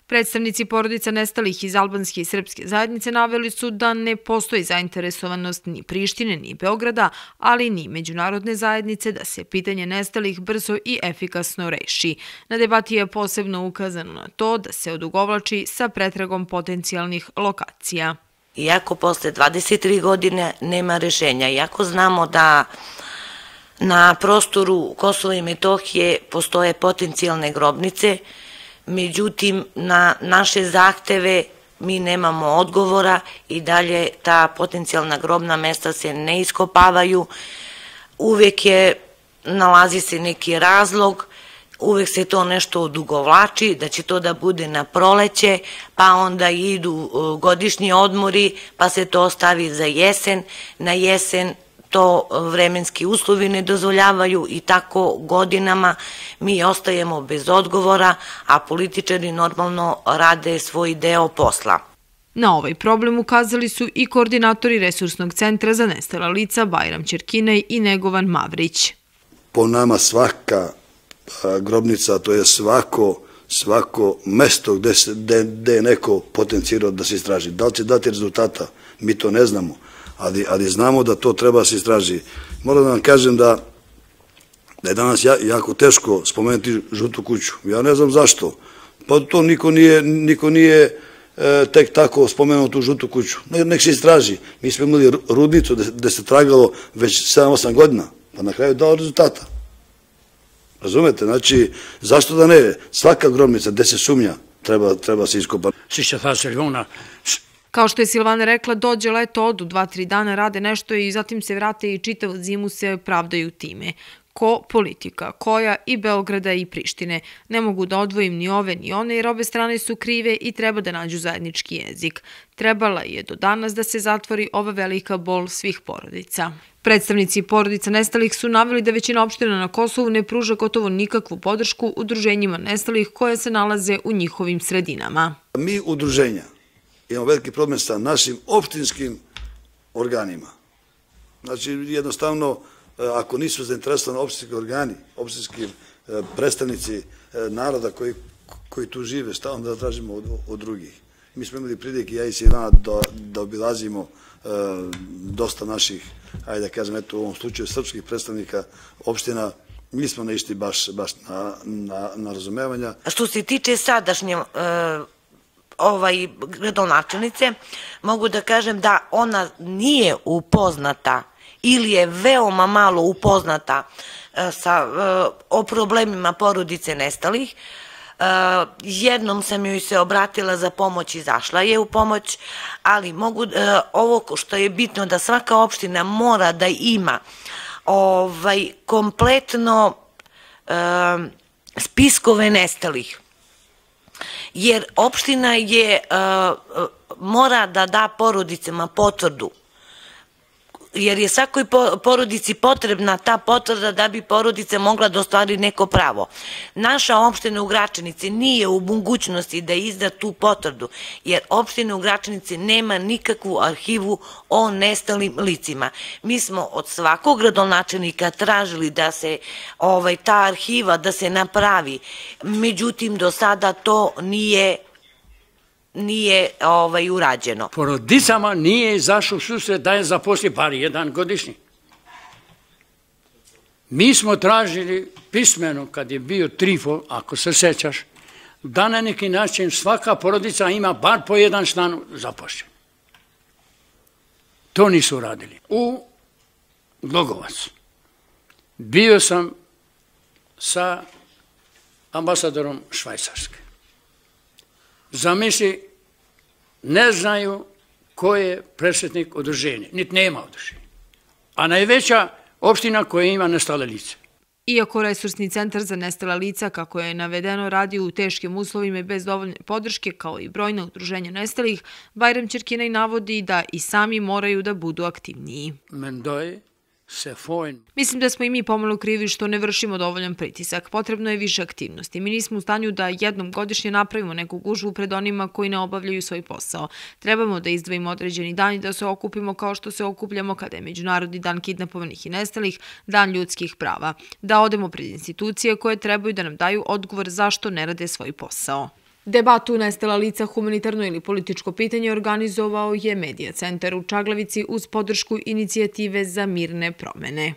Predstavnici porodica nestalih iz albanske i srpske zajednice naveli su da ne postoji zainteresovanost ni Prištine ni Beograda, ali ni međunarodne zajednice da se pitanje nestalih brzo i efikasno reši. Na debati je posebno ukazano na to da se odugovlači sa pretragom potencijalnih lokacija. Iako posle 23 godine nema rešenja, iako znamo da na prostoru Kosova i Metohije postoje potencijalne grobnice, međutim, na naše zahteve mi nemamo odgovora i dalje ta potencijalna grobna mesta se ne iskopavaju. Uvek nalazi se neki razlog, uvek se to nešto odugovlači, da će to da bude na proleće, pa onda idu godišnji odmori, pa se to ostavi za jesen. Na jesen to vremenski uslovi ne dozvoljavaju i tako godinama mi ostajemo bez odgovora, a političari normalno rade svoj deo posla. Na ovaj problem ukazali su i koordinatori Resursnog centra za nestala lica Bajram Ćerkinaj i Negovan Mavrić. Po nama svaka grobnica, to je svako mesto gde je neko potencijirao da se istraži. Da li će dati rezultata, mi to ne znamo, ali znamo da to treba da se istraži. Moram da vam kažem da je danas jako teško spomenuti Žutu kuću. Ja ne znam zašto. Pa to niko nije tek tako spomenuo tu Žutu kuću. Nek se istraži. Mi smo imali rudnicu gde se tragalo već 7-8 godina, pa na kraju dao rezultata. Razumete? Znači, zašto da ne? Svaka grobnica gde se sumnja treba se iskopati. Kao što je Silvana rekla, dođe leto, odu 2-3 dana, rade nešto i zatim se vrate i čitavu zimu se pravdaju time. Ko politika, koja i Beograda i Prištine. Ne mogu da odvojim ni ove ni one jer obe strane su krive i treba da nađu zajednički jezik. Trebala je do danas da se zatvori ova velika bol svih porodica. Predstavnici porodica nestalih su naveli da većina opština na Kosovu ne pruža gotovo nikakvu podršku udruženjima nestalih koje se nalaze u njihovim sredinama. Mi udruženja imamo veliki problem sa našim opštinskim organima. Znači, jednostavno, ako nisu zainteresovani opštinski organi, opštinski predstavnici naroda koji tu žive, šta onda da tražimo od drugih? Mi smo imali prilike, ja i Silvana, da obilazimo dosta naših, ajde da kažem, eto u ovom slučaju srpskih predstavnika opština. Mi smo naišli baš na razumevanja. Što se tiče sadašnje gradonačelnice, mogu da kažem da ona nije upoznata ili je veoma malo upoznata o problemima porodice nestalih. Jednom sam joj se obratila za pomoć, izašla je u pomoć, ali ovo što je bitno da svaka opština mora da ima kompletno spiskove nestalih. Jer opština mora da da porodicama potvrdu, jer je svakoj porodici potrebna ta potvrda da bi porodica mogla da ostvari neko pravo. Naša opština u Gračanici nije u mogućnosti da izda tu potvrdu, jer opština u Gračanici nema nikakvu arhivu o nestalim licima. Mi smo od svakog gradonačelnika tražili da se ta arhiva da se napravi, međutim do sada to nije urađeno. Porodicama nije izašao susret da je zaposli bar jedan godišnji. Mi smo tražili pismeno, kad je bio Trifo, ako se sećaš, da na neki način svaka porodica ima bar po jedan član zaposlen. To nisu radili. U Glogovac bio sam sa ambasadorom Švajcarske. Zamisli, ne znaju ko je predsjednik udruženja, niti nema udruženja. A najveća opština koja ima nestale lice. Iako Resursni centar za nestala lica, kako je navedeno, radi u teškim uslovima i bez dovoljne podrške, kao i brojna udruženja nestalih, Bajram Ćerkinaj navodi da i sami moraju da budu aktivniji. Mislim da smo i mi pomalo krivi što ne vršimo dovoljan pritisak. Potrebno je više aktivnosti. Mi nismo u stanju da jednom godišnje napravimo neku gužvu pred onima koji ne obavljaju svoj posao. Trebamo da izdvojimo određeni dan i da se okupimo kao što se okupljamo kada je Međunarodni dan kidnapovanih i nestalih, dan ljudskih prava. Da odemo pred institucije koje trebaju da nam daju odgovor zašto ne rade svoj posao. Debatu nestala lica, humanitarno ili političko pitanje organizovao je Medija centar u Čaglavici uz podršku inicijative za mirne promene.